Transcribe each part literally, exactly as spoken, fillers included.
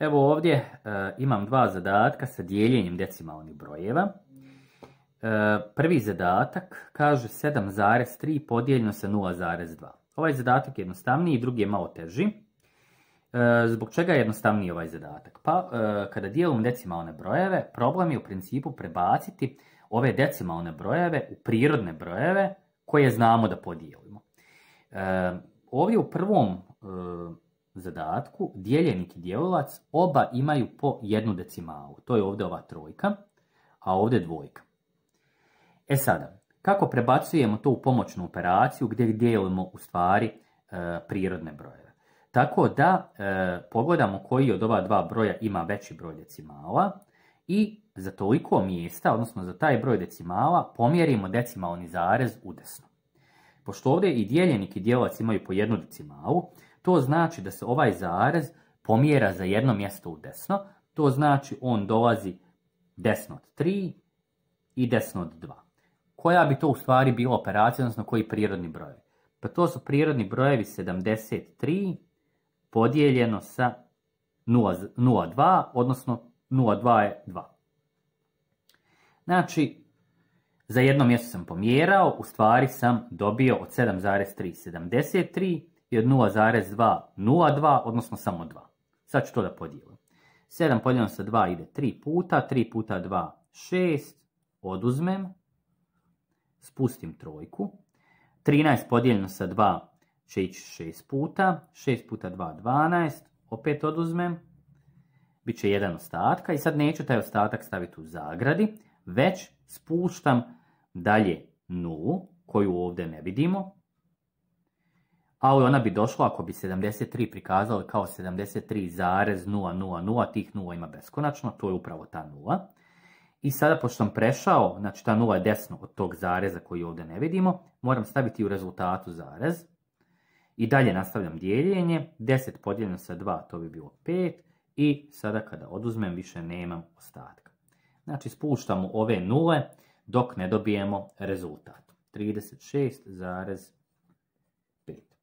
Evo ovdje e, imam dva zadatka sa dijeljenjem decimalnih brojeva. E, prvi zadatak kaže sedam zarez tri podijeljeno sa nula zarez dva. Ovaj zadatak je jednostavniji, drugi je malo teži. E, zbog čega je jednostavniji ovaj zadatak? Pa e, kada dijelimo decimalne brojeve, problem je u principu prebaciti ove decimalne brojeve u prirodne brojeve koje znamo da podijelimo. E, ovdje u prvom e, zadatku dijeljenik i dijelilac oba imaju po jednu decimalu. To je ovdje ova trojka, a ovdje dvojka. E sada, kako prebacujemo to u pomoćnu operaciju gdje dijelimo u stvari e, prirodne brojeve? Tako da e, pogledamo koji od ova dva broja ima veći broj decimala i za toliko mjesta, odnosno za taj broj decimala, pomjerimo decimalni zarez udesno. Pošto ovdje i dijeljenik i dijelilac imaju po jednu decimalu, to znači da se ovaj zarez pomjera za jedno mjesto u desno, to znači on dolazi desno od tri i desno od dva. Koja bi to u stvari bila operacija, odnosno koji prirodni brojevi? Pa to su prirodni brojevi sedamdeset tri podijeljeno sa nula zarez dva, odnosno nula zarez dva je dva. Znači, za jedno mjesto sam pomjerao, u stvari sam dobio od sedam zarez tri sedamdeset tri i od nula zarez dva nula zarez dva, odnosno samo dva. Sad ću to da podijelim. sedam podijeljeno sa dva ide tri puta, tri puta dva šest, oduzmem, spustim trojku. trinaest podijeljeno sa dva će ići šest puta, šest puta dva dvanaest, opet oduzmem, bit će jedan ostatka i sad neću taj ostatak staviti u zagradi, već spuštam dalje nulu, koju ovdje ne vidimo, ali ona bi došla ako bi sedamdeset tri prikazali kao sedamdeset tri zarez nula nula nula, tih nula ima beskonačno, to je upravo ta nula. I sada, pošto sam prešao, znači ta nula je desno od tog zareza koji ovdje ne vidimo, moram staviti u rezultatu zarez. I dalje nastavljam dijeljenje, deset podijeljeno sa dva, to bi bilo pet. I sada kada oduzmem, više nemam ostatka. Znači spuštamo ove nule dok ne dobijemo rezultat. trideset šest zarez pet.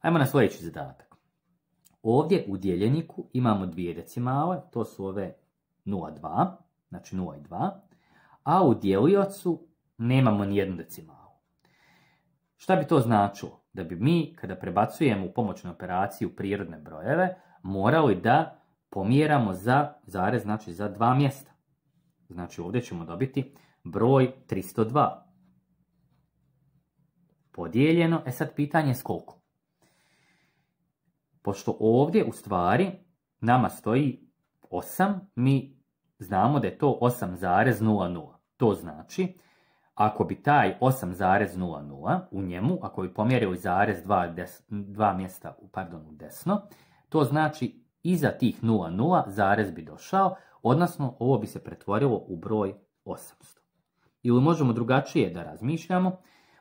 Ajmo na sljedeći zadatak. Ovdje u dijeljeniku imamo dvije decimale, to su ove nula zarez dva, znači nula i dva, a u dijeliocu nemamo nijednu decimalu. Šta bi to značilo? Da bi mi, kada prebacujemo u pomoćnu operaciju prirodne brojeve, morali da pomjeramo za zarez, znači za dva mjesta. Znači ovdje ćemo dobiti broj tristo dva. Podijeljeno, e sad pitanje je s koliko? Pošto ovdje u stvari nama stoji osam, mi znamo da je to osam zarez nula nula. To znači, ako bi taj osam zarez nula nula u njemu, ako bi pomjerili zarez dva, des, dva mjesta pardon, u desno, to znači iza tih nula nula zarez bi došao, odnosno ovo bi se pretvorilo u broj osamsto. Ili možemo drugačije da razmišljamo,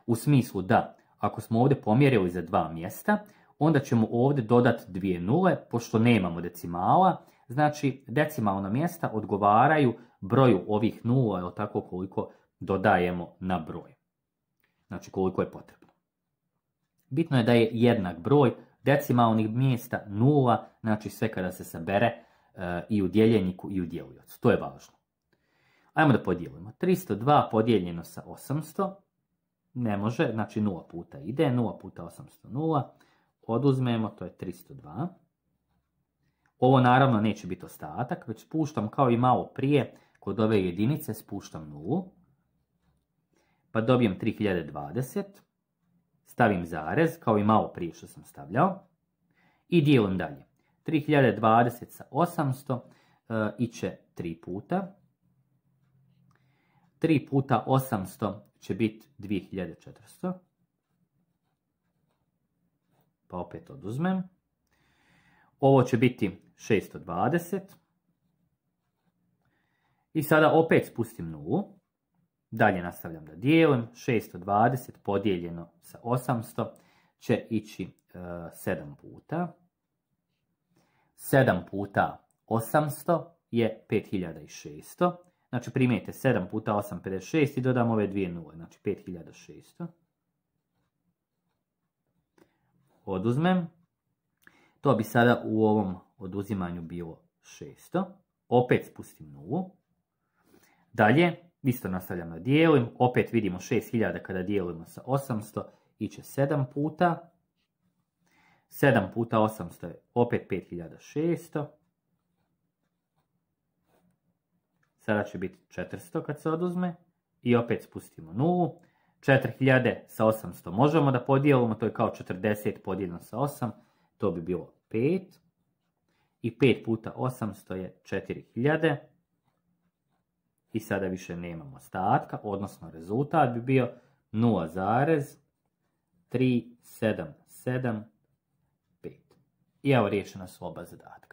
u smislu da ako smo ovdje pomjerili za dva mjesta, onda ćemo ovdje dodati dvije nule, pošto nemamo decimala, znači decimalna mjesta odgovaraju broju ovih nula, ili tako koliko dodajemo na broj. Znači koliko je potrebno. Bitno je da je jednak broj decimalnih mjesta nula, znači sve kada se sabere e, i u dijeljeniku i u dijeliocu. To je važno. Ajmo da podijelimo. tristo dva podijeljeno sa osamsto, ne može, znači nula puta ide, nula puta osamsto, nula. Oduzmemo, to je tristo dva. Ovo naravno neće biti ostatak, već spuštam kao i malo prije, kod ove jedinice spuštam nulu. Pa dobijem tri hiljade dvadeset, stavim zarez, kao i malo prije što sam stavljao, i dijelim dalje. tri hiljade dvadeset sa osamsto e, iće tri puta. tri puta osamsto će biti dvije hiljade četiristo. Pa opet oduzmem. Ovo će biti šesto dvadeset. I sada opet spustim nulu. Dalje nastavljam da dijelim. šesto dvadeset podijeljeno sa osamsto će ići e, sedam puta. sedam puta osamsto je pet hiljada šesto. Znači primijete sedam puta osam, pedeset šest i dodam ove dvije nule. Znači pet hiljada šesto. Oduzmem. To bi sada u ovom oduzimanju bilo šesto. Opet spustim nulu. Dalje, isto nastavljam da dijelim. Opet vidimo šest hiljada kada dijelimo sa osamsto. Iće sedam puta. sedam puta osamsto je opet pet hiljada šesto. Sada će biti četiristo kad se oduzme. I opet spustimo nulu. četiri hiljade sa osamsto možemo da podijelimo. To je kao četrdeset podijeljeno sa osam. To bi bilo pet. I pet puta osamsto je četiri hiljade. I sada više nemamo ostatka. Odnosno rezultat bi bio nula zarez tri sedam sedam pet. I evo riješena su oba zadatka.